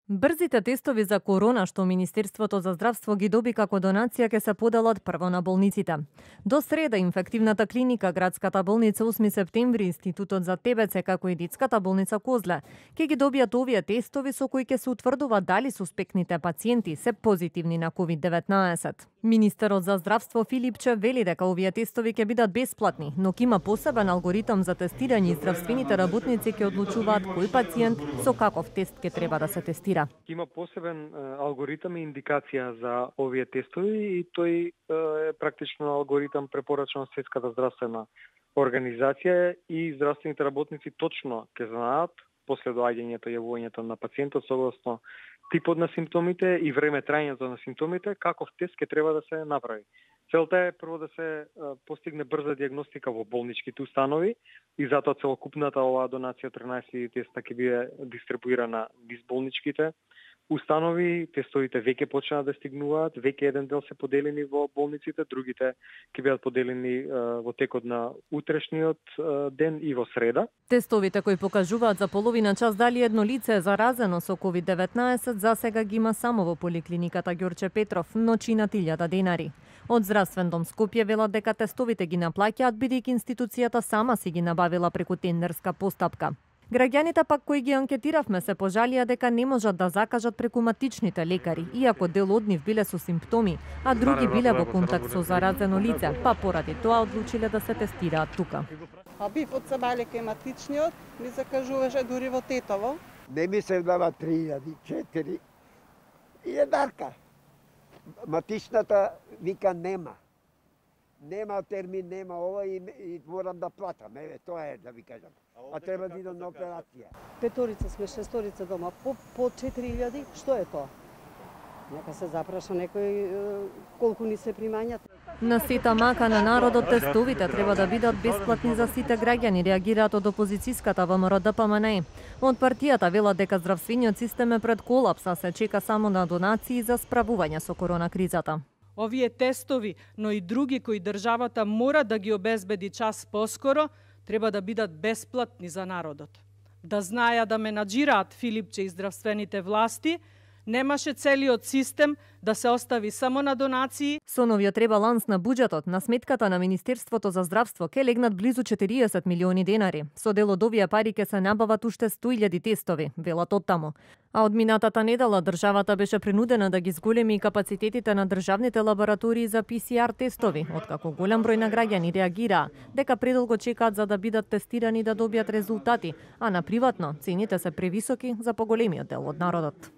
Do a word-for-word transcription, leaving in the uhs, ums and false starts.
Брзите тестови за корона што Министерството за здравство ги доби како донација ќе се поделат прво на болниците. До среда инфективната клиника, градската болница осми септември, Институтот за ТБЦ како и детската болница Козле ќе ги добијат овие тестови со кои ќе се утврдува дали суспектните пациенти се позитивни на ковид деветнаесет. Министерот за здравство Филипче вели дека овие тестови ќе бидат бесплатни, но ќе има посебен алгоритам за тестирање и здравствените работници ќе одлучуваат кој пациент со каков тест ќе треба да се тестира. Има посебен алгоритам и индикација за овие тестови и тој е практично алгоритам препорачан од Светската здравствена организација и здравствените работници точно ќе знаат после доаѓањето и јавувањето на пациентот согласно типот на симптомите и време траењето на симптомите, каков тест ќе треба да се направи. Целта е прво да се постигне брза диагностика во болничките установи и затоа целокупната оваа донација од тринаесет теста ќе биде дистрибуирана низ болничките установи. Тестовите веќе почнаа да стигнуваат, веќе еден дел се поделени во болниците, другите ќе бидат поделени во текот на утрешниот ден и во среда. Тестовите кои покажуваат за половина час дали едно лице е заразено со ковид деветнаесет за сега ги има само во поликлиниката Ѓорче Петров, но чинат илјада денари. Од Здравствен дом Скопје велат дека тестовите ги наплаќаат бидејќи институцијата сама си ги набавила преку тендерска постапка. Граѓаните пак кои ги анкетиравме се пожалија дека не можат да закажат преку матичните лекари, иако дел од нив биле со симптоми, а други биле во контакт со заразено лице, па поради тоа одлучиле да се тестираат тука. А бив од Сабале кај матичниот ми закажуваше дури во Тетово. Не ми се дава три илјади, четири и едарка. Матичната вика нема. Нема термин, нема ова и, и морам да платам. Еве, тоа е да ви кажам. А треба да идам на операција. Петорица сме, шесторица дома, по, по четири илјади, што е тоа? Нека се запраша некој колку ни се примањат. На сета мака на народот тестовите треба да бидат бесплатни за сите граѓани, реагираат од опозицијската ВМРО-ДПМНЕ. Од партијата велат дека здравствениот систем е пред колапс, а се чека само на донации за справување со корона кризата. Овие тестови, но и други кои државата мора да ги обезбеди час поскоро, треба да бидат бесплатни за народот. Да знаја да менаџираат Филипче и здравствените власти, немаше целиот систем да се остави само на донации. Со новиот ребаланс на буџетот, на сметката на Министерството за здравство ке легнат близу четириесет милиони денари. Со дел од овие пари ке се набават уште сто илјади тестови, велат оттаму. А од минатата недела државата беше принудена да ги зголеми капацитетите на државните лаборатории за пи си ар тестови, откако голем број на граѓани реагираа дека предолго чекаат за да бидат тестирани да добијат резултати, а на приватно цените се превисоки за поголемиот дел од народот.